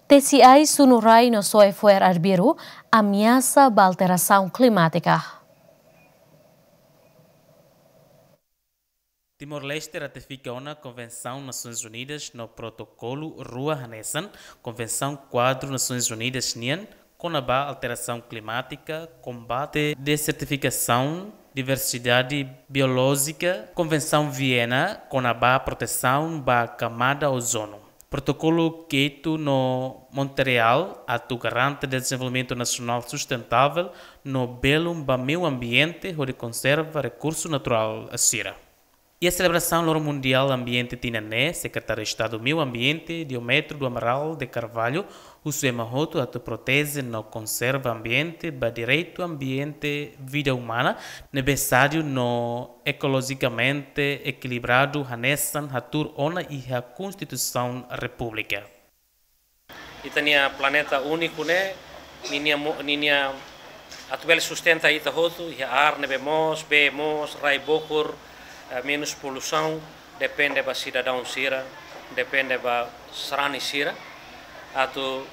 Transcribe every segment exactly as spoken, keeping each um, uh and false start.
Tesi ai, sunu rai no soe fo'er arbiru ameasa ba alterasaun klimátika. Timor-Leste ratifika ona Konvensaun Nasoins Unidas no protokolu rua hanesan Konvensaun Kuadru Nasoins Unidas nian kona-ba alterasaun klimátika, kombate dezertifikasaun, diversidade biolójika, Konvensaun Viena kona-ba protesaun ba kamada ozonu. Protokolu Kyoto no Montreal atu garante dezenvolvimentu nasionál sustentável no belun ba meiu ambiente hodi konserva rekursu naturál sira. Iha selebrasaun Loron Mundiál Ambiente tinan ne'e, Sekretáriu Estadu Meiu Ambiente, Diómedes do Amaral de Carvalho, husu ema hotu atu proteje no konserva ambiente ba direitu ambiente vida umana ne'ebé sadiu no ekolojikamente ekilibradu hanesan hatuur ona iha Konstituisaun Repúblika. Ita-nia planeta úniku ne'e, ninia mo-, ninia atu bele sustenta ita hotu, iha ar ne'ebé moos, bee moos, rai bokur, eh, menus poluisaun, depende ba sidadaun sira, depende ba sarani sira, atu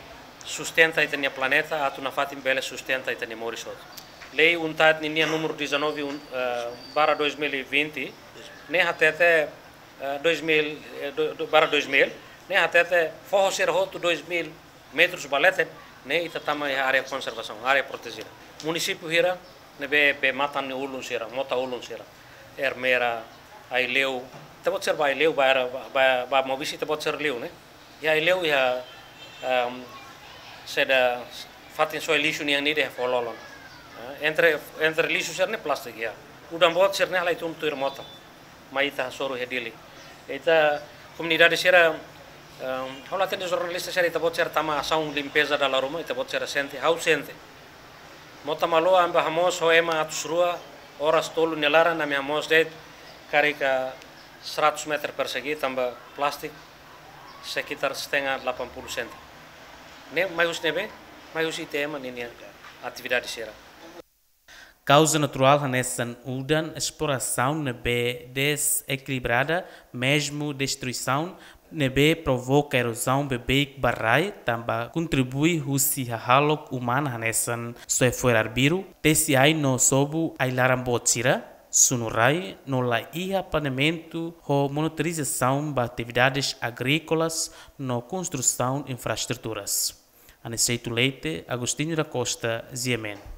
sustenta ita-nia planeta, atu nafatin bele sustenta ita-nia moris hotu. Lei UNTAD ninia númeru dezanove, un-, eh, barra dois mil e vinte, ne'e hatete, eh, dois mil, eh, do, do, barra dois mil, ne'e hatete foho sira hotu dois mil metrus ba leten, ne'e ita tama iha área konservasaun, área protejida. Munisípiu hira ne'ebé bee-matan nia ulun sira, mota ulun sira, Ermera, Aileu, ita-boot sira ba Aileu, ba, ba, ba, ba Maubisse ita-boot sira liu, ne'e? Iha Aileu, iha, ehm, saida, fatin soe lixu nian ida iha foho-lolon. Eh, entre, entre lixu sira-ne'e plástiku iha. Udan boot sira-ne'e halai tun tuir mota. Mai ita hasoru iha Dili. Ita komunidade sira, ehm, ha'u la hatene jornalista sira, ita-boot sira tama asaun limpeza dala ruma, ita-boot sira sente, ha'u sente. Mota Maloa ami bá hamoos ho ema atus rua, oras tolu nia laran ami hamoos de'it karik seratus meter persegi tanba plástiku sekitar setengah delapan puluh senti. Ne'e mai husi ne'ebé? Mai husi ita ema ninia atividade sira. Kauza naturál hanesan udan, esplorasaun ne'ebé dezekilibrada, mezmu destruisaun ne'ebé provoka erozaun beibeik ba rai, tanba kontribui husi hahalok umana hanesan soe fo'er arbiru, tesi ai no sobu ai-laran boot sira, sunu rai no la iha planeamentu ho monitorizasaun ba atividades agríkolas no konstrusaun infraestruturas. Aniceto Leite, Agostinho da Costa, G M N.